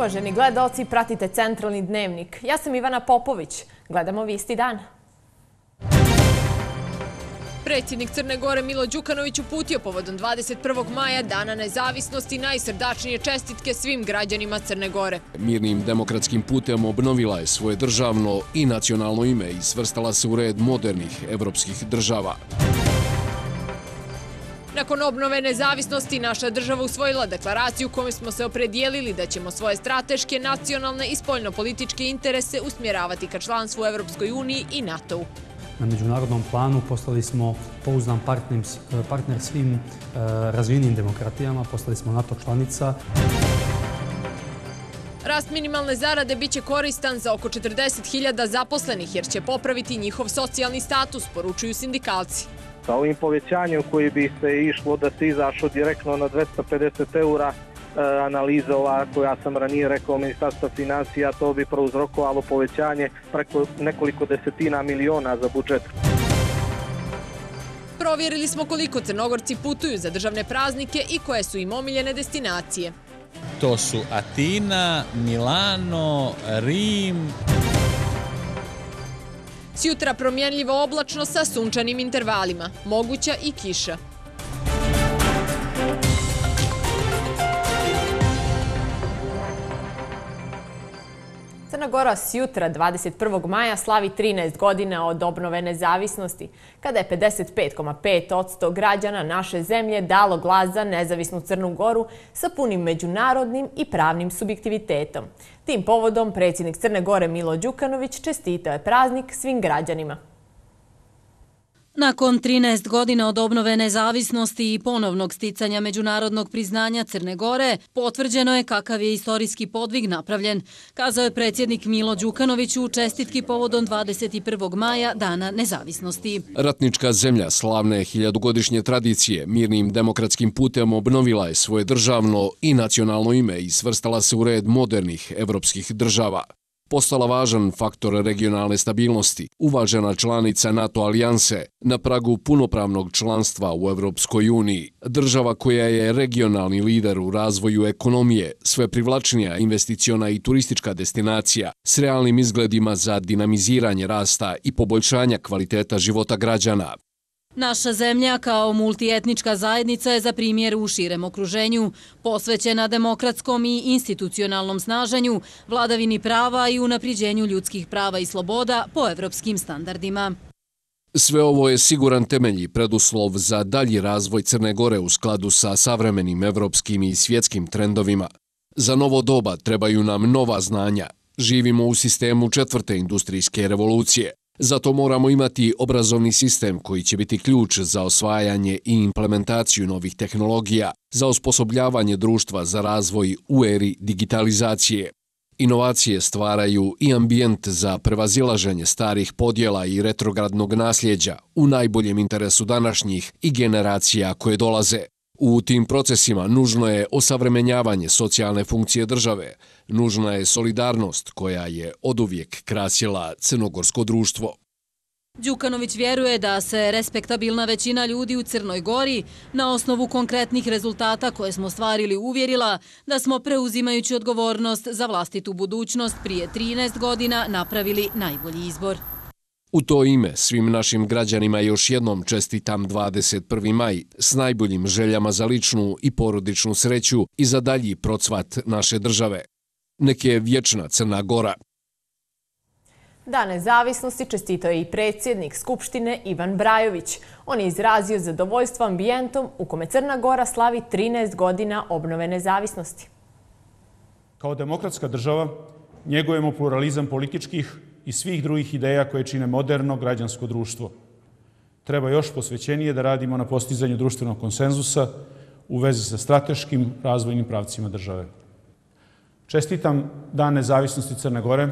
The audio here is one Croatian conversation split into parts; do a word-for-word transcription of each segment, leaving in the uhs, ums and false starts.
Uvaženi gledaoci, pratite Centralni dnevnik. Ja sam Ivana Popović. Gledamo Vijesti dana. Predsjednik Crne Gore Milo Đukanović uputio povodom dvadeset prvog maja, Dana nezavisnosti, najsrdačnije čestitke svim građanima Crne Gore. Mirnim demokratskim putem obnovila je svoje državno i nacionalno ime i svrstala se u red modernih evropskih država. Nakon obnove nezavisnosti, naša država usvojila deklaraciju kojom smo se opredijelili da ćemo svoje strateške, nacionalne i spoljnopolitičke interese usmjeravati ka članstvu u Evropskoj uniji i NATO-u. Na međunarodnom planu postali smo pouzdan partner svim razvijenim demokratijama, postali smo NATO članica. Rast minimalne zarade biće koristan za oko četrdeset hiljada zaposlenih jer će popraviti njihov socijalni status, poručuju sindikalci. Sa ovim povećanjem koji bi se išlo da se izašlo direktno na dvesta pedeset eura, analiza ova koja sam ranije rekao Ministarstva financija, to bi prouzrokovalo povećanje preko nekoliko desetina miliona za budžet. Provjerili smo koliko Crnogorci putuju za državne praznike i koje su im omiljene destinacije. To su Atina, Milano, Rim. Sjutra promjenljivo oblačno sa sunčanim intervalima, moguća i kiša. Crna Gora sjutra dvadeset prvog maja slavi trinaest godina od obnove nezavisnosti, kada je pedeset pet zarez pet posto građana naše zemlje dalo glas za nezavisnu Crnu Goru sa punim međunarodnim i pravnim subjektivitetom. Tim povodom predsjednik Crne Gore Milo Đukanović čestitao je praznik svim građanima. Nakon trinaest godina od obnove nezavisnosti i ponovnog sticanja međunarodnog priznanja Crne Gore, potvrđeno je kakav je istorijski podvig napravljen, kazao je predsjednik Milo Đukanović u čestitki povodom dvadeset prvog maja, Dana nezavisnosti. Ratnička zemlja slavne hiljadugodišnje tradicije mirnim demokratskim putem obnovila je svoje državno i nacionalno ime i svrstala se u red modernih evropskih država. Postala važan faktor regionalne stabilnosti, uvažena članica NATO alijanse, na pragu punopravnog članstva u Evropskoj uniji, država koja je regionalni lider u razvoju ekonomije, sve privlačnija investiciona i turistička destinacija s realnim izgledima za dinamiziranje rasta i poboljšanja kvaliteta života građana. Naša zemlja kao multietnička zajednica je za primjer u širem okruženju, posvećena demokratskom i institucionalnom snaženju, vladavini prava i unapriđenju ljudskih prava i sloboda po evropskim standardima. Sve ovo je siguran temelj i preduslov za dalji razvoj Crne Gore u skladu sa savremenim evropskim i svjetskim trendovima. Za novo doba trebaju nam nova znanja. Živimo u sistemu četvrte industrijske revolucije. Zato moramo imati obrazovni sistem koji će biti ključ za osvajanje i implementaciju novih tehnologija, za osposobljavanje društva za razvoj u eri digitalizacije. Inovacije stvaraju i ambijent za prevazilaženje starih podjela i retrogradnog nasljeđa u najboljem interesu današnjih i generacija koje dolaze. U tim procesima nužno je osavremenjavanje socijalne funkcije države, nužna je solidarnost koja je oduvijek krasila crnogorsko društvo. Đukanović vjeruje da se respektabilna većina ljudi u Crnoj Gori na osnovu konkretnih rezultata koje smo stvarili uvjerila da smo preuzimajući odgovornost za vlastitu budućnost prije trinaest godina napravili najbolji izbor. U to ime svim našim građanima još jednom čestitam dvadeset prvi maj s najboljim željama za ličnu i porodičnu sreću i za dalji procvat naše države. Nek je vječna Crna Gora. Dan nezavisnosti čestitao je i predsjednik Skupštine Ivan Brajović. On je izrazio zadovoljstvo ambijentom u kome Crna Gora slavi trinaest godina obnove nezavisnosti. Kao demokratska država njegujemo pluralizam političkih i svih drugih ideja koje čine moderno građansko društvo. Treba još posvećenije da radimo na postizanju društvenog konsenzusa u vezi sa strateškim razvojnim pravcima države. Čestitam Dan nezavisnosti Crne Gore.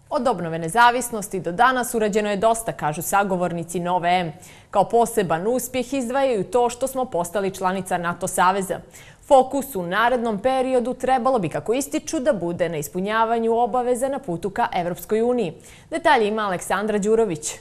Od obnove nezavisnosti do danas urađeno je dosta, kažu sagovornici Nove M. Kao poseban uspjeh izdvajaju to što smo postali članica NATO saveza. Fokus u narednom periodu trebalo bi, kako ističu, da bude na ispunjavanju obaveza na putu ka Evropskoj uniji. Detalje ima Aleksandra Đurović.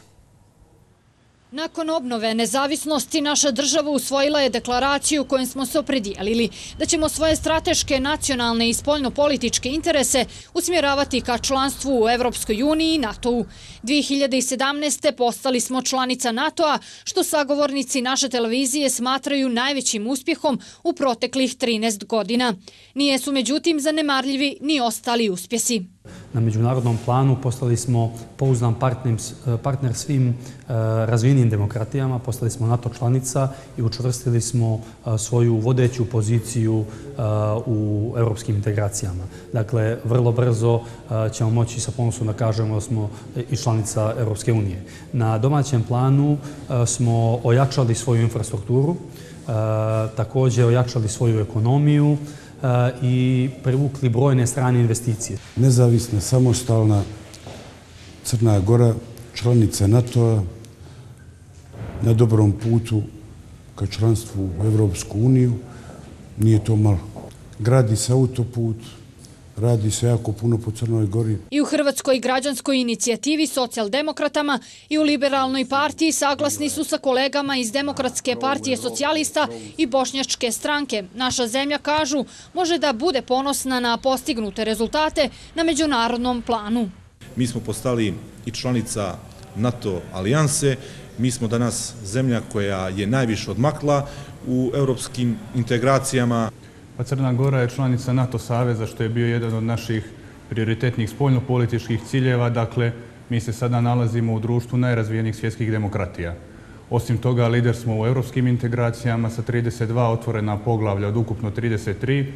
Nakon obnove nezavisnosti, naša država usvojila je deklaraciju kojom smo se opredijelili da ćemo svoje strateške, nacionalne i spoljnopolitičke interese usmjeravati ka članstvu u Evropskoj uniji i NATO-u. dvije hiljade sedamnaeste. postali smo članica NATO-a, što sagovornici naše televizije smatraju najvećim uspjehom u proteklih trinaest godina. Nije su međutim zanemarljivi ni ostali uspjesi. Na međunarodnom planu postali smo pouzdan partner svim razvijenim demokratijama, postali smo NATO članica i učvrstili smo svoju vodeću poziciju u europskim integracijama. Dakle, vrlo brzo ćemo moći sa ponosom da kažemo da smo i članica Europske unije. Na domaćem planu smo ojačali svoju infrastrukturu, također ojačali svoju ekonomiju i privukli brojne strane investicije. Nezavisna, samostalna Crna Gora, članica NATO-a, na dobrom putu ka članstvu u Evropsku uniju, nije to malo. Gradi se autoput, radi se jako puno po Crnoj Gori. I u Hrvatskoj građanskoj inicijativi socijaldemokratama i u Liberalnoj partiji saglasni su sa kolegama iz Demokratske partije socijalista i Bošnjačke stranke. Naša zemlja, kažu, može da bude ponosna na postignute rezultate na međunarodnom planu. Mi smo postali i članica NATO alijanse. Mi smo danas zemlja koja je najviše odmakla u europskim integracijama. Pa Crna Gora je članica NATO saveza, što je bio jedan od naših prioritetnih spoljnopolitičkih ciljeva. Dakle, mi se sada nalazimo u društvu najrazvijenijih svjetskih demokratija. Osim toga, lider smo u europskim integracijama sa trideset dva otvorena poglavlja od ukupno trideset tri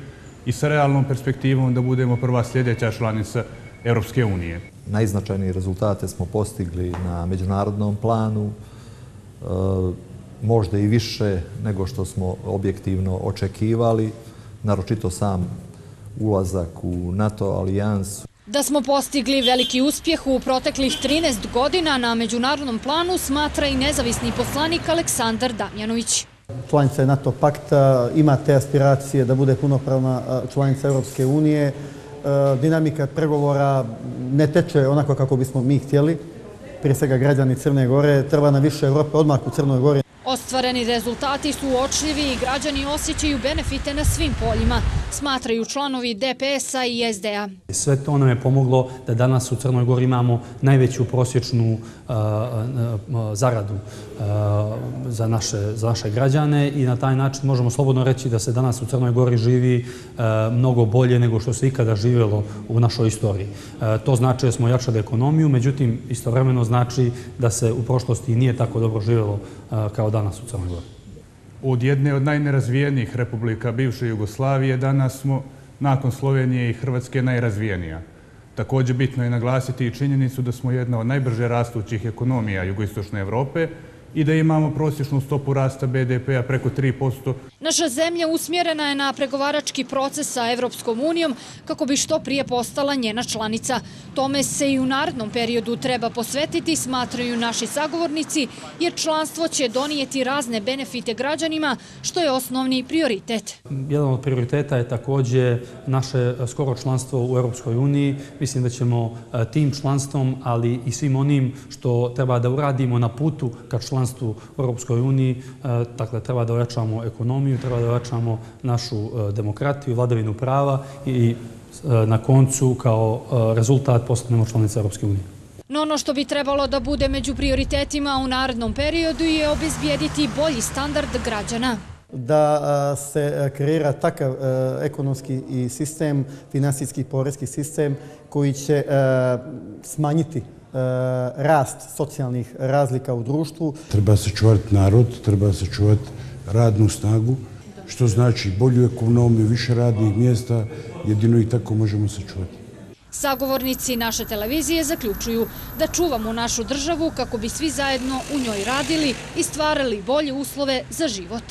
i sa realnom perspektivom da budemo prva sljedeća članica Europske unije. Najznačajnije rezultate smo postigli na međunarodnom planu, možda i više nego što smo objektivno očekivali, naročito sam ulazak u NATO alijansu. Da smo postigli veliki uspjeh u proteklih trinaest godina na međunarodnom planu smatra i nezavisni poslanik Aleksandar Damjanović. Članica je NATO pakta, ima te aspiracije da bude punopravna članica Europske unije. Dinamika pregovora ne teče onako kako bismo mi htjeli. Prije svega građani Crne Gore, treba nam više Evrope odmah u Crnoj Gori. Ostvareni rezultati su uočljivi i građani osjećaju benefite na svim poljima, smatraju članovi D P S-a i S D A. Sve to nam je pomoglo da danas u Crnoj Gori imamo najveću prosječnu zaradu za naše građane i na taj način možemo slobodno reći da se danas u Crnoj Gori živi mnogo bolje nego što se ikada živjelo u našoj istoriji. To znači da smo jačali ekonomiju, međutim istovremeno znači da se u prošlosti nije tako dobro živjelo kao danas u Crnoj Gori. Od jedne od najnerazvijenijih republika bivše Jugoslavije danas smo, nakon Slovenije i Hrvatske, najrazvijenija. Također bitno je naglasiti i činjenicu da smo jedna od najbrže rastućih ekonomija jugoistočne Evrope i da imamo prosječnu stopu rasta B D P-a preko tri posto. Naša zemlja usmjerena je na pregovarački proces sa Evropskom unijom kako bi što prije postala njena članica. Tome se i u narednom periodu treba posvetiti, smatraju naši sagovornici, jer članstvo će donijeti razne benefite građanima, što je osnovni prioritet. Jedan od prioriteta je također naše skoro članstvo u Europskoj uniji. Mislim da ćemo tim članstvom, ali i svim onim što treba da uradimo na putu ka članstvu u Europskoj uniji, dakle treba da ojačamo ekonomiju, treba da ojačamo našu demokratiju, vladavinu prava i na koncu kao rezultat postanemo članica Europske unije. No ono što bi trebalo da bude među prioritetima u narednom periodu je obezbijediti bolji standard građana. Da se kreira takav ekonomski sistem, finansijski i porezki sistem koji će smanjiti rast socijalnih razlika u društvu. Treba sačuvati narod, treba sačuvati radnu snagu, što znači bolju ekonomiju, više radnih mjesta, jedino i tako možemo sačuvati. Sagovornici naše televizije zaključuju da čuvamo našu državu kako bi svi zajedno u njoj radili i stvarali bolje uslove za život.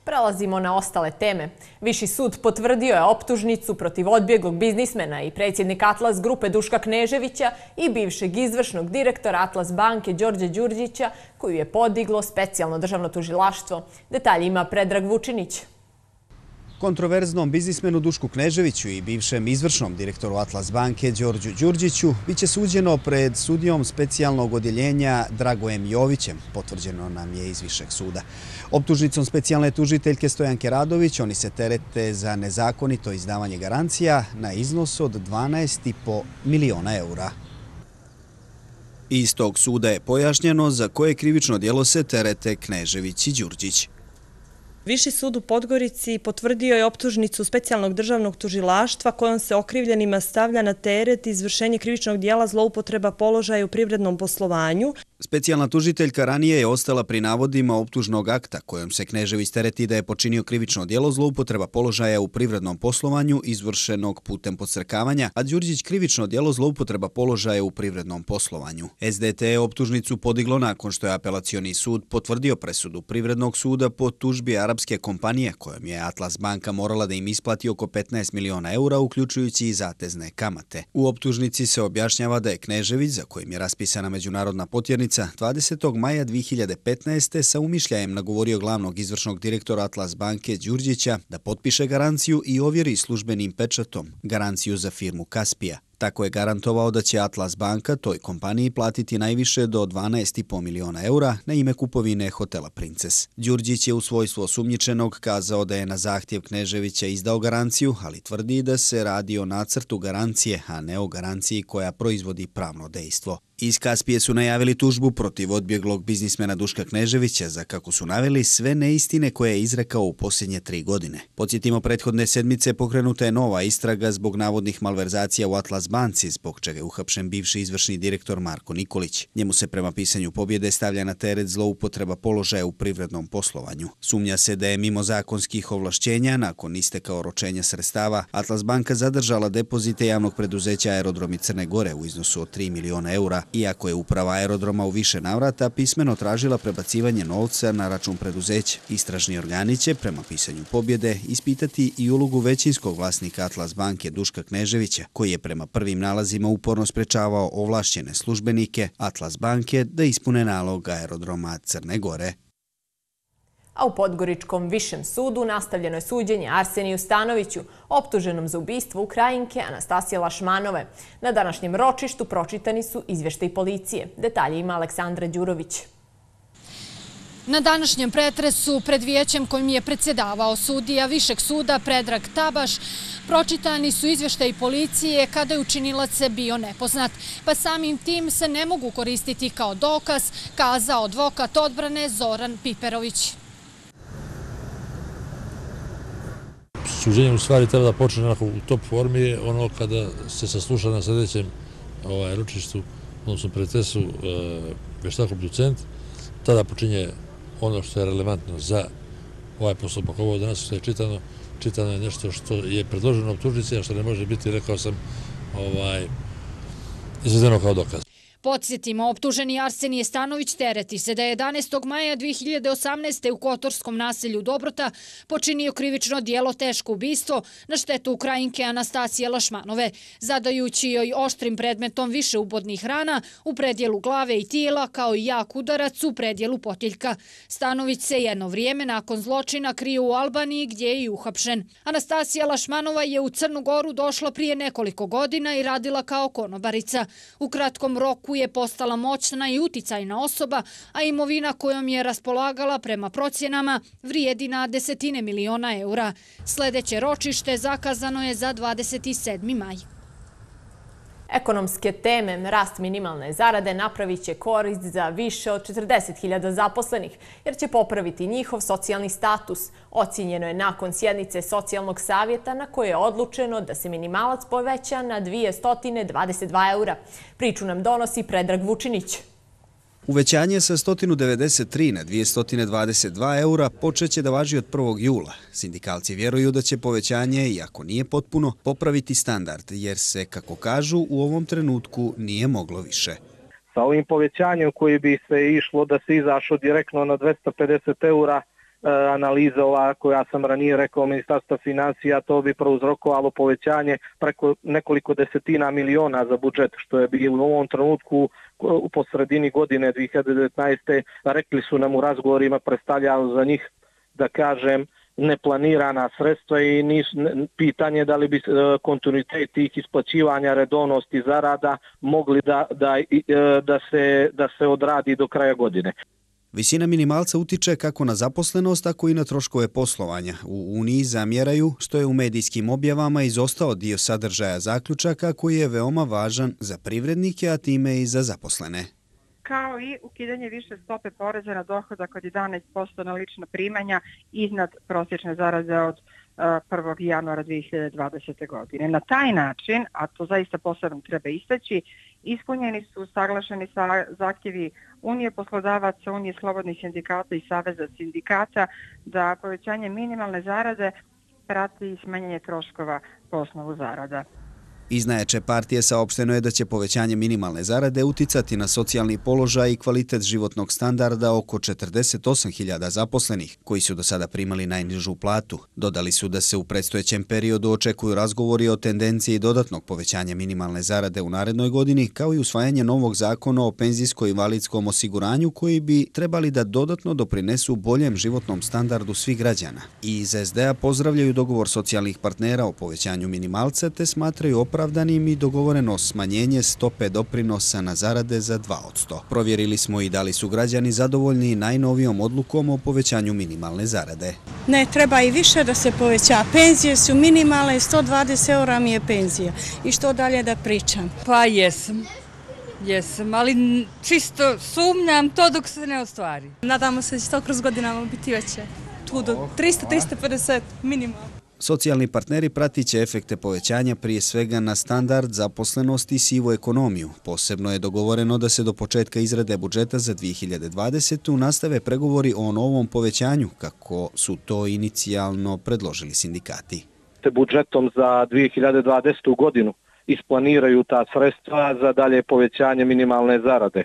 Prelazimo na ostale teme. Viši sud potvrdio je optužnicu protiv odbjeglog biznismena i predsjednika Atlas grupe Duška Kneževića i bivšeg izvršnog direktora Atlas banke Đorđe Đurđića, koju je podiglo specijalno državno tužilaštvo. Detalje ima Predrag Vučinić. Kontroverznom biznismenu Dušku Kneževiću i bivšem izvršnom direktoru Atlas banke Đorđu Đurđiću biće suđeno pred sudijom specijalnog odjeljenja Dragojem Jovićem, potvrđeno nam je iz Višeg suda. Optužnicom specijalne tužiteljke Stojanke Radović oni se terete za nezakonito izdavanje garancija na iznos od dvanaest i po miliona eura. Iz tog suda je pojašnjeno za koje krivično djelo se terete Knežević i Đurđić. Viši sud u Podgorici potvrdio je optužnicu specijalnog državnog tužilaštva kojom se okrivljenima stavlja na teret izvršenje krivičnog dijela zloupotreba položaja u privrednom poslovanju. Specijalna tužiteljka ranije je ostala pri navodima optužnog akta kojom se Knežević tereti da je počinio krivično djelo zloupotreba položaja u privrednom poslovanju izvršenog putem podsrkavanja, a Đurđić krivično djelo zloupotreba položaja u privrednom poslovanju. S D T je optužnicu podiglo nakon što je apelacioni sud potvrdio presudu Privrednog suda po tužbi arapske kompanije kojom je Atlas banka morala da im isplati oko petnaest miliona eura, uključujući i zatezne kamate. U optužnici se objašnjava da je Knežević, za kojim je raspisana međunarodna potjernica, dvadesetog maja dve hiljade petnaeste. sa umišljajem nagovorio glavnog izvršnog direktora Atlas banke Đurđića da potpiše garanciju i ovjeri službenim pečatom garanciju za firmu Kaspija. Tako je garantovao da će Atlas banka toj kompaniji platiti najviše do dvanaest i po miliona eura na ime kupovine hotela Princes. Đurđić je u svojstvu osumnjičenog kazao da je na zahtjev Kneževića izdao garanciju, ali tvrdi da se radi o nacrtu garancije, a ne o garanciji koja proizvodi pravno dejstvo. Iz Kaspije su najavili tužbu protiv odbjeglog biznismena Duška Kneževića za, kako su naveli, sve neistine koje je izrekao u posljednje tri godine. Podsjetimo, prethodne sedmice pokrenuta je nova istraga zbog navodnih malverzacija u Atlas banci, zbog čega je uhapšen bivši izvršni direktor Marko Nikolić. Njemu se prema pisanju pobjede stavlja na teret zloupotreba položaja u privrednom poslovanju. Sumnja se da je mimo zakonskih ovlašćenja, nakon isteka oročenja sredstava, Atlas banka zadržala depozite javnog preduzeća Aerodromi Crne Gore u iznosu od tri miliona eura, iako je uprava aerodroma u više navrata pismeno tražila prebacivanje novca na račun preduzeća. Istražni organi će, prema pisanju pobjede, ispitati i ulogu većinskog vlasnika Atlas banke Duška Kneževića, koji je prema prvim nalazima uporno sprečavao ovlašćene službenike Atlas banke da ispune nalog Aerodroma Crne Gore. A u Podgoričkom višem sudu nastavljeno je suđenje Arseniju Stanoviću, optuženom za ubistvo Ukrajinke Anastasije Lašmanove. Na današnjem ročištu pročitani su izvještaji policije. Detalje ima Aleksandra Đurović. Na današnjem pretresu pred vijećem kojim je predsjedavao sudija Višeg suda Predrag Tabaš pročitani su izvještaji policije kada je učinilac bio nepoznat, pa samim tim se ne mogu koristiti kao dokaz, kazao advokat odbrane Zoran Piperović. Suđenje u stvari treba da počne u top formi, ono kada se sasluša na sljedećem ročištu, odnosno pretresu veštak obducent, tada počinje ono što je relevantno za ovaj postupak. Ovo danas što je čitano, čitano je nešto što je predloženo optužnici, a što ne može biti, rekao sam, izvedeno kao dokaz. Podsjetimo, optuženi Arsenije Stanović tereti se da je jedanaestog maja dve hiljade osamnaeste. u kotorskom naselju Dobrota počinio krivično dijelo teško ubistvo na štetu Ukrajinke Anastasije Lašmanove, zadajući joj oštrim predmetom više ubodnih rana u predjelu glave i tijela, kao i jak udarac u predjelu potiljka. Stanović se jedno vrijeme nakon zločina krio u Albaniji, gdje je i uhapšen. Anastasija Lašmanova je u Crnu Goru došla prije nekoliko godina i radila kao konobarica. U kratkom roku je postala moćna i uticajna osoba, a imovina kojom je raspolagala prema procjenama vrijedi na desetine miliona eura. Sljedeće ročište zakazano je za dvadeset sedmi maj. Ekonomske teme, rast minimalne zarade napravit će korist za više od četrdeset hiljada zaposlenih, jer će popraviti njihov socijalni status. Ocijenjeno je nakon sjednice socijalnog savjeta na koje je odlučeno da se minimalac poveća na dvjesto dvadeset dva eura. Priču nam donosi Predrag Vučinić. Uvećanje sa sto devedeset tri na dvjesto dvadeset dva eura počeće da važi od prvog jula. Sindikalci vjeruju da će povećanje, iako nije potpuno, popraviti standard, jer se, kako kažu, u ovom trenutku nije moglo više. Sa ovim povećanjem koji bi se išlo da se izašlo direktno na dvjesto pedeset eura, analiza ova koja sam ranije rekao Ministarstva financija, to bi prouzrokovalo povećanje preko nekoliko desetina miliona za budžet, što je bilo u ovom trenutku u posredini godine dve hiljade devetnaeste. Rekli su nam u razgovorima, predstavljalo za njih, da kažem, neplanirana sredstva i nis, pitanje da li bi kontinuitet tih isplaćivanja, redovnosti zarada mogli da, da, da, se, da se odradi do kraja godine. Visina minimalca utiče kako na zaposlenost, tako i na troškove poslovanja. U Uniji zamjeraju što je u medijskim objavama izostao dio sadržaja zaključaka koji je veoma važan za privrednike, a time i za zaposlene. Kao i ukidanje više stope poreza na dohodak od jedanaest posto na lična primanja iznad prosječne zarade od prvog januara dve hiljade dvadesete. godine. Na taj način, a to zaista posebno treba istaći, ispunjeni su saglašeni zahtjevi Unije poslodavaca, Unije slobodnih sindikata i Saveza sindikata da povećanje minimalne zarade prati smanjenje troškova po osnovu zarada. Iz najjače partije saopšteno je da će povećanje minimalne zarade uticati na socijalni položaj i kvalitet životnog standarda oko četrdeset osam hiljada zaposlenih, koji su do sada primali najnižu platu. Dodali su da se u predstojećem periodu očekuju razgovori o tendenciji dodatnog povećanja minimalne zarade u narednoj godini, kao i usvajanje novog zakona o penzijsko-invalidskom osiguranju koji bi trebali da dodatno doprinesu boljem životnom standardu svih građana. I iz es de a pozdravljaju dogovor socijalnih partnera o povećanju minimalca te smatraju opravdanim i dogovoreno smanjenje stope doprinosa na zarade za dva posto. Provjerili smo i da li su građani zadovoljni najnovijom odlukom o povećanju minimalne zarade. Ne, treba i više da se poveća. Penzije su minimalne, sto dvadeset eura mi je penzija. I što dalje da pričam? Pa jesam. Jesam, ali čisto sumnjam to dok se ne ostvari. Nadamo se da će to kroz godinama biti veće. Tu do tristo do tristo pedeset minimalno. Socijalni partneri pratit će efekte povećanja prije svega na standard, zaposlenost i sivu ekonomiju. Posebno je dogovoreno da se do početka izrade budžeta za dve hiljade dvadesetu. nastave pregovori o novom povećanju, kako su to inicijalno predložili sindikati. Budžetom za dve hiljade dvadesetu. godinu isplaniraju ta sredstva za dalje povećanje minimalne zarade.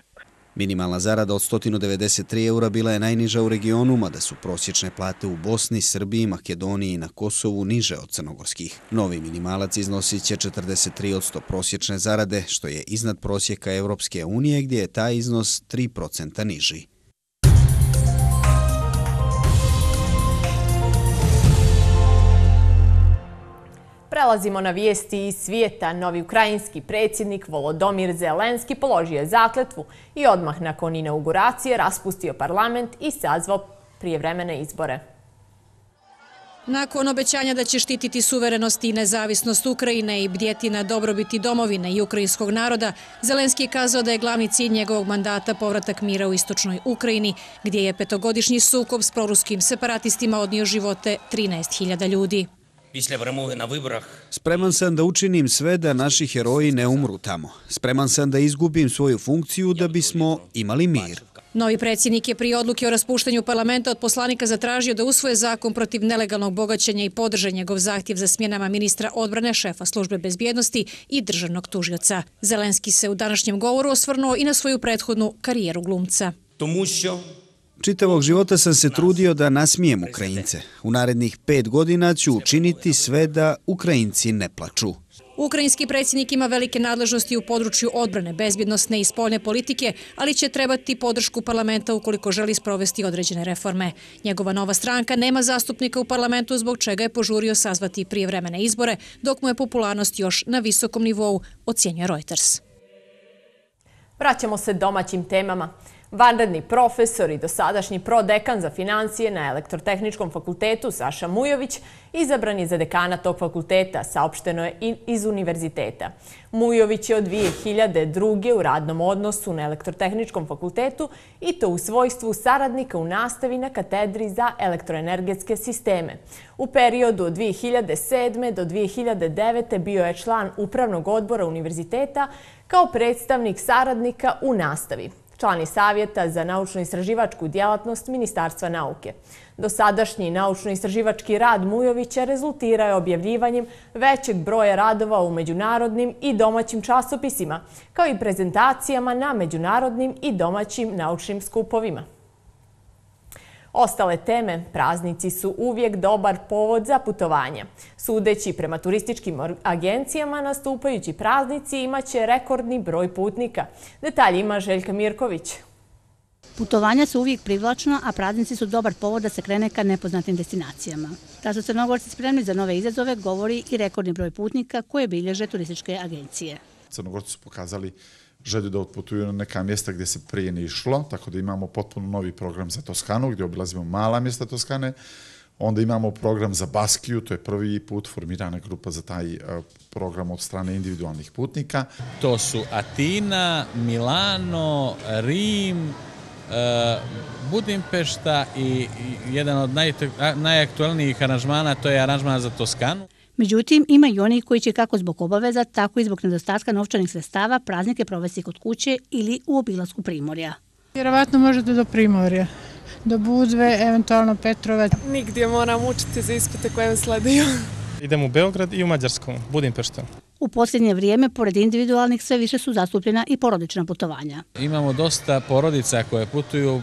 Minimalna zarada od sto devedeset tri eura bila je najniža u regionu, mada su prosječne plate u Bosni, Srbiji, Makedoniji i na Kosovu niže od crnogorskih. Novi minimalac iznosit će četrdeset tri posto prosječne zarade, što je iznad prosjeka Evropske unije, gdje je taj iznos tri posto niži. Prelazimo na vijesti iz svijeta. Novi ukrajinski predsjednik Volodomir Zelenski položio je zakletvu i odmah nakon inauguracije raspustio parlament i sazvao prijevremene izbore. Nakon obećanja da će štititi suverenost i nezavisnost Ukrajine i bdjeti na dobrobiti domovine i ukrajinskog naroda, Zelenski je kazao da je glavni cilj njegovog mandata povratak mira u istočnoj Ukrajini, gdje je petogodišnji sukob s proruskim separatistima odnio živote trinaest hiljada ljudi. Spreman sam da učinim sve da naši heroji ne umru tamo. Spreman sam da izgubim svoju funkciju da bismo imali mir. Novi predsjednik je prije odluke o raspuštanju parlamenta od poslanika zatražio da usvoje zakon protiv nelegalnog bogaćenja i podrže njegov zahtjev za smjenama ministra odbrane, šefa službe bezbjednosti i državnog tužioca. Zelenski se u današnjem govoru osvrnuo i na svoju prethodnu karijeru glumca. Čitavog života sam se trudio da nasmijem Ukrajince. U narednih pet godina ću učiniti sve da Ukrajinci ne plaču. Ukrajinski predsjednik ima velike nadležnosti u području odbrane, bezbjednosne i spoljne politike, ali će trebati podršku parlamenta ukoliko želi sprovesti određene reforme. Njegova nova stranka nema zastupnika u parlamentu, zbog čega je požurio sazvati prijevremene izbore, dok mu je popularnost još na visokom nivou, ocjenjuje Reuters. Vraćamo se domaćim temama. Vanredni profesor i dosadašnji prodekan za financije na Elektrotehničkom fakultetu Saša Mujović izabran je za dekana tog fakulteta, saopšteno je iz univerziteta. Mujović je od dvije hiljade druge. u radnom odnosu na Elektrotehničkom fakultetu i to u svojstvu saradnika u nastavi na katedri za elektroenergetske sisteme. U periodu od dvije hiljade sedme. do dvije hiljade devete. bio je član upravnog odbora univerziteta kao predstavnik saradnika u nastavi. Član je Savjeta za naučno-istraživačku djelatnost Ministarstva nauke. Dosadašnji naučno-istraživački rad Mujovića rezultirao je objavljivanjem većeg broja radova u međunarodnim i domaćim časopisima, kao i prezentacijama na međunarodnim i domaćim naučnim skupovima. Ostale teme, praznici su uvijek dobar povod za putovanja. Sudeći prema turističkim agencijama, nastupajući praznici imaće rekordni broj putnika. Detalji ima Željka Mirković. Putovanja su uvijek privlačna, a praznici su dobar povod da se krene ka nepoznatim destinacijama. Da su Crnogorci spremni za nove izazove govori i rekordni broj putnika koje bilježe turističke agencije. Crnogorci su pokazali želju da otputuju na neka mjesta gdje se prije ne išlo, tako da imamo potpuno novi program za Toskanu gdje obilazimo mala mjesta Toskane. Onda imamo program za Baskiju, to je prvi put formirana grupa za taj program od strane individualnih putnika. To su Atina, Milano, Rim, Budimpešta i jedan od najaktualnijih aranžmana, to je aranžman za Toskanu. Međutim, ima i oni koji će kako zbog obaveza, tako i zbog nedostatka novčanih sredstava praznike provesti kod kuće ili u obilasku Primorja. Vjerovatno možete do Primorja, do Budve, eventualno Petrovac. Nigdje moram učiti za ispite koje sleduju. Idem u Beograd i u Mađarsku, Budimpeštu. U posljednje vrijeme, pored individualnih, sve više su zastupljena i porodična putovanja. Imamo dosta porodica koje putuju,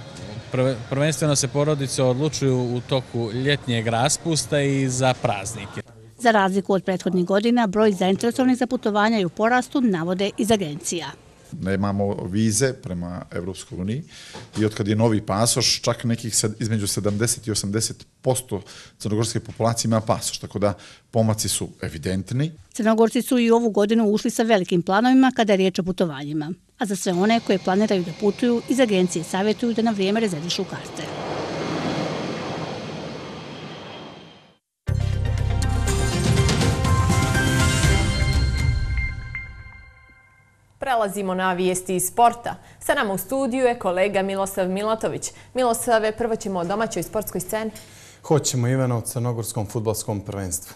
prvenstveno se porodice odlučuju u toku ljetnjeg raspusta i za praznike. Za razliku od prethodnih godina, broj zainteresovanih za putovanja je u porastu, navode iz agencija. Nemamo vize prema Evropskoj uniji i otkad je novi pasoš, čak nekih između sedamdeset i osamdeset posto crnogorske populacije ima pasoš, tako da pomaci su evidentni. Crnogorci su i ovu godinu ušli sa velikim planovima kada je riječ o putovanjima, a za sve one koje planiraju da putuju, iz agencije savjetuju da na vrijeme rezervišu karte. Prelazimo na vijesti iz sporta. Sa nama u studiju je kolega Milosav Milatović. Milosave, prvo ćemo o domaćoj sportskoj sceni. Hoćemo, Ivana, o crnogorskom fudbalskom prvenstvu.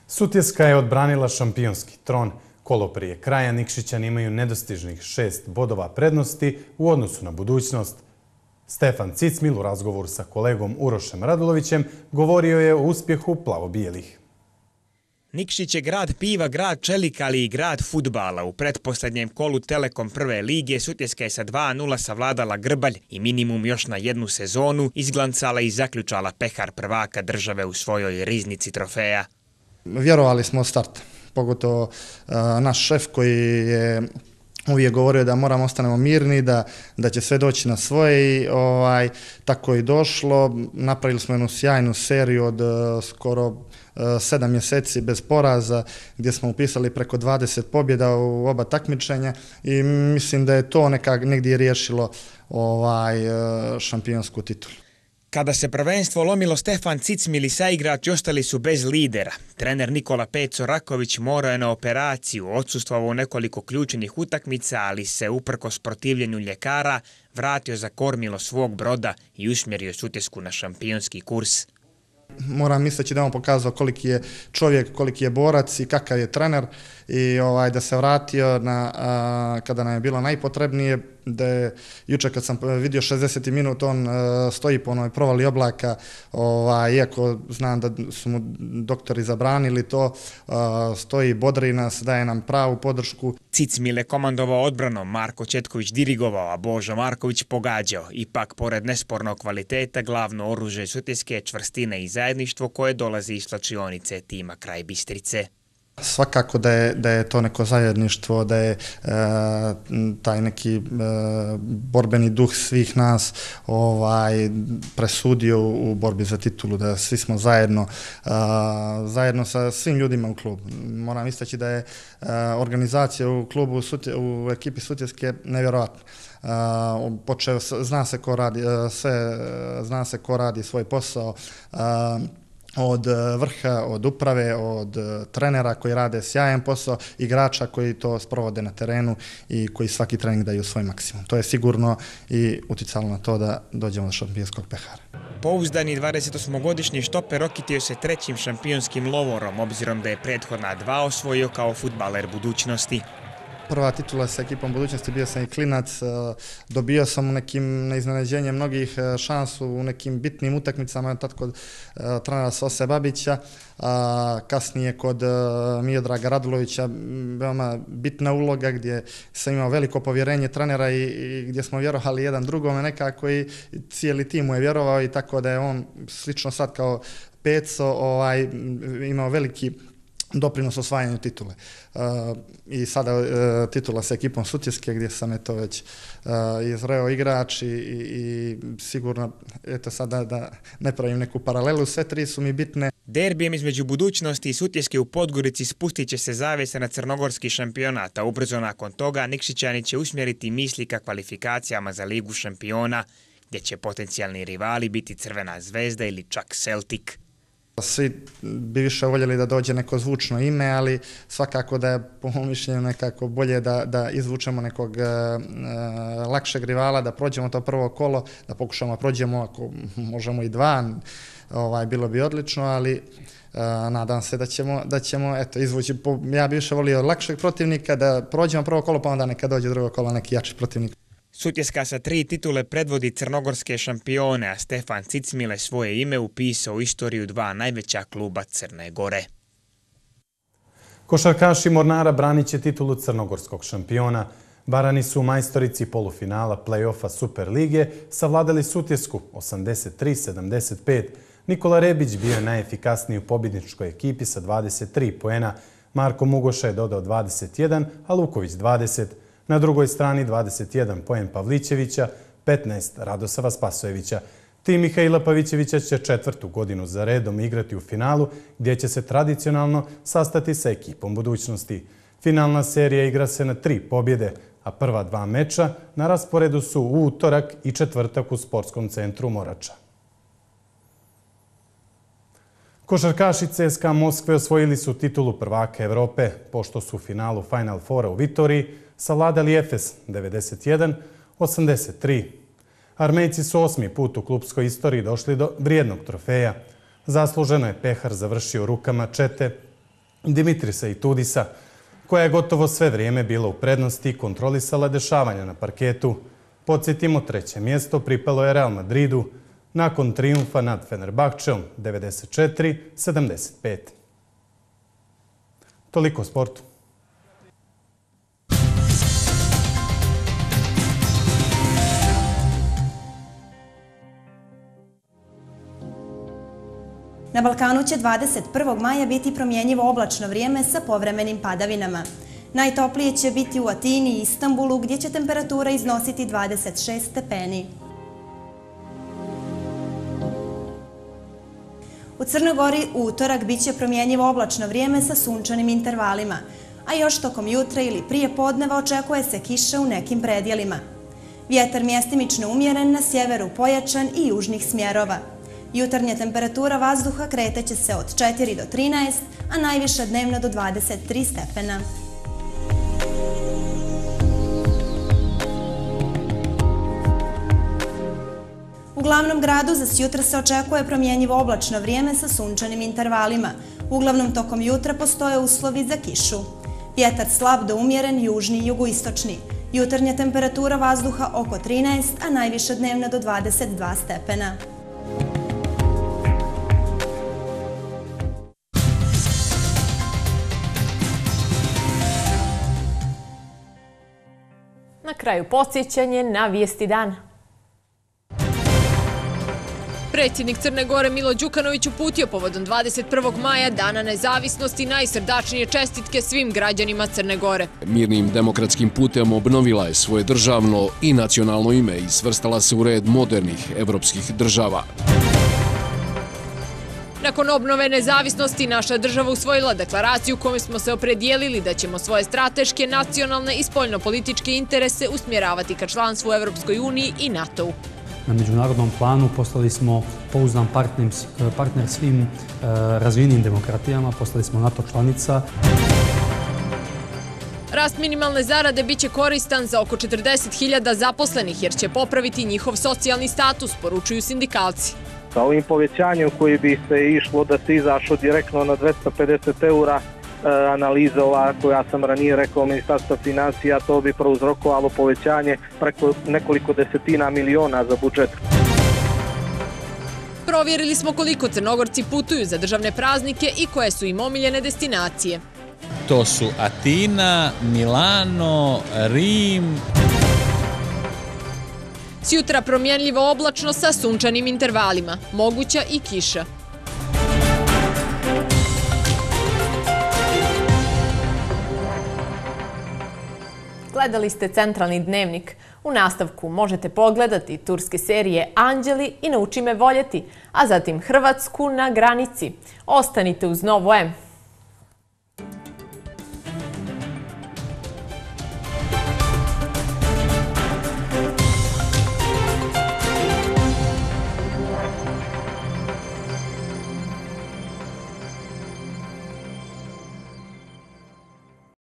Sutjeska je odbranila šampionski tron. Kolo prije kraja Nikšićani imaju nedostižnih šest bodova prednosti u odnosu na budućnost. Stefan Cicmil u razgovoru sa kolegom Urošem Radulovićem govorio je o uspjehu plavo-bijelih. Nikšić je grad piva, grad čelika, ali i grad fudbala. U pretposlednjem kolu Telekom prve lige Sutjeska je sa dva nula savladala Grbalj i minimum još na jednu sezonu izglancala i zaključala pehar prvaka države u svojoj riznici trofeja. Vjerovali smo od starta, pogotovo uh, naš šef koji je uvijek govorio da moramo ostanemo mirni, da, da će sve doći na svoje i ovaj, tako je došlo. Napravili smo jednu sjajnu seriju od uh, skoro sedam mjeseci bez poraza, gdje smo upisali preko dvadeset pobjeda u oba takmičenja i mislim da je to nekak negdje riješilo ovaj šampionsku titulu. Kada se prvenstvo lomilo, Stefan Cicmil i saigrači ostali su bez lidera. Trener Nikola Peco Raković morao je na operaciju, odsustvovao nekoliko ključnih utakmica, ali se uprkos protivljenju ljekara vratio za kormilo svog broda i usmjerio Sutjesku na šampionski kurs. Moram misleći da on pokazao koliki je čovjek, koliki je borac i kakav je trener i ovaj, da se vratio na, a, kada nam je bilo najpotrebnije, da je jučer kad sam vidio šezdeset minuta on a, stoji po onoj provali oblaka, ovaj, iako znam da su mu doktori zabranili to, a, stoji, bodri nas, daje nam pravu podršku. Cicmil je komandovao odbranom, Marko Četković dirigovao, a Božo Marković pogađao. Ipak, pored nespornog kvaliteta, glavno oružje Sutjeske je čvrstina i zajedništvo koje dolazi iz slačionice tima kraj Bistrice. Svakako da je, da je to neko zajedništvo, da je e, taj neki e, borbeni duh svih nas ovaj, presudio u borbi za titulu, da svi smo zajedno, e, zajedno sa svim ljudima u klubu. Moram istaći da je e, organizacija u klubu, Sutje, u ekipi Sutjeske nevjerojatna. Uh, počeo, zna se ko radi, uh, sve, zna se ko radi svoj posao, uh, od vrha, od uprave, od trenera koji rade sjajan posao, igrača koji to sprovode na terenu i koji svaki trening daju svoj maksimum. To je sigurno i uticalo na to da dođemo do šampionskog pehara. Pouzdani dvadesetosmogodišnji štoper okitio se trećim šampionskim lovorom, obzirom da je prethodna dva osvojio kao fudbaler budućnosti. Prva titula sa ekipom budućnosti, bio sam i klinac, dobio sam u nekim na iznenađenje mnogih šansu u nekim bitnim utakmicama, tad kod trenera Sose Babića, a kasnije kod Miodraga Radulovića, veoma bitna uloga gdje sam imao veliko povjerenje trenera i, i gdje smo vjerovali jedan drugome nekako i cijeli tim mu je vjerovao i tako da je on slično sad kao Peco ovaj, imao veliki doprinos osvajanju titule. I sada titula sa ekipom Sutjeske gdje sam eto već izreo igrač i sigurno, eto sada da ne pravim neku paralelu, sve tri su mi bitne. Derbijem između Budućnosti i Sutjeske u Podgorici spustit će se zavjesa na crnogorski šampionat, a ubrzo nakon toga Nikšićani će usmjeriti misli ka kvalifikacijama za Ligu šampiona, gdje će potencijalni rivali biti Crvena zvezda ili čak Celtic. Svi bi više voljeli da dođe neko zvučno ime, ali svakako da je po mom mišljenju nekako bolje da, da izvučemo nekog uh, lakšeg rivala, da prođemo to prvo kolo, da pokušamo prođemo ako možemo i dva, ovaj, bilo bi odlično, ali uh, nadam se da ćemo, da ćemo eto, izvući, po, ja bi više volio lakšeg protivnika, da prođemo prvo kolo pa onda neka dođe drugo kolo neki jači protivnik. Sutjeska sa tri titule predvodi crnogorske šampione, a Stefan Cicmile svoje ime upisao u istoriju dva najveća kluba Crne Gore. Košarkaši Mornara branit će titulu crnogorskog šampiona. Barani su u majstorici polufinala play-offa Super lige savladali Sutjesku osamdeset tri sedamdeset pet. Nikola Rebić bio je najefikasniji u pobjedničkoj ekipi sa dvadeset tri poena. Marko Mugoša je dodao dvadeset jedan, a Luković dvadeset. Na drugoj strani dvadeset jedan poen Pavlićevića, petnaest Radosava Spasojevića. Tim Mihajla Pavićevića će četvrtu godinu za redom igrati u finalu, gdje će se tradicionalno sastati sa ekipom Budućnosti. Finalna serija igra se na tri pobjede, a prva dva meča na rasporedu su u utorak i četvrtak u sportskom centru Morača. Košarkaši C S K A Moskve osvojili su titulu prvaka Evrope, pošto su u finalu Final Fora u Vitoriji savladali Efes devedeset jedan osamdeset tri. Armejci su osmi put u klubskoj istoriji došli do vrijednog trofeja. Zasluženo je pehar završio u rukama čete Dimitrisa i Tudisa, koja je gotovo sve vrijeme bila u prednosti i kontrolisala dešavanja na parketu. Podsjetimo, treće mjesto pripalo je Real Madridu nakon trijumfa nad Fenerbahčeom devedeset četiri sedamdeset pet. Toliko o sportu. Na Balkanu će dvadeset prvog maja biti promjenjivo oblačno vrijeme sa povremenim padavinama. Najtoplije će biti u Atini i Istanbulu, gdje će temperatura iznositi dvadeset šest stepeni. U Crnoj Gori u utorak bit će promjenjivo oblačno vrijeme sa sunčanim intervalima, a još tokom jutra ili prije podneva očekuje se kiša u nekim predjelima. Vjetar mjestimično umjeren, na sjeveru pojačan i južnih smjerova. Jutarnja temperatura vazduha kreteće se od četiri do trinaest, a najviša dnevna do dvadeset tri stepena. U glavnom gradu za sjutra se očekuje promjenjivo oblačno vrijeme sa sunčanim intervalima. Uglavnom tokom jutra postoje uslovi za kišu. Vjetar slab do umjeren, južni i jugoistočni. Jutarnja temperatura vazduha oko trinaest, a najviša dnevna do dvadeset dva stepena. Na kraju podsjećanje na vijesti dana. Predsjednik Crne Gore Milo Đukanović uputio povodom dvadeset prvog maja, Dana nezavisnosti, najsrdačnije čestitke svim građanima Crne Gore. Mirnim demokratskim putem obnovila je svoje državno i nacionalno ime i svrstala se u red modernih evropskih država. Nakon obnove nezavisnosti, naša država usvojila deklaraciju kojom smo se opredijelili da ćemo svoje strateške, nacionalne i spoljnopolitičke interese usmjeravati ka članstvu u Evropskoj uniji i NATO-u. Na međunarodnom planu postali smo pouzdan partner svim razvijenim demokratijama, postali smo NATO članica. Rast minimalne zarade biće koristan za oko četrdeset hiljada zaposlenih jer će popraviti njihov socijalni status, poručuju sindikalci. Sa ovim povećanjem koji bi se išlo da se izašlo direktno na dvesta pedeset eura, analiza ova koja sam ranije rekao Ministarstva financija, to bi prouzrokovalo povećanje preko nekoliko desetina miliona za budžet. Provjerili smo koliko Crnogorci putuju za državne praznike i koje su im omiljene destinacije. To su Atina, Milano, Rim. Sjutra promjenljivo oblačno sa sunčanim intervalima, moguća i kiša. Gledali ste Centralni dnevnik. U nastavku možete pogledati turske serije Anđeli i Nauči me voljeti, a zatim Hrvatsku na granici. Ostanite uz Novo M.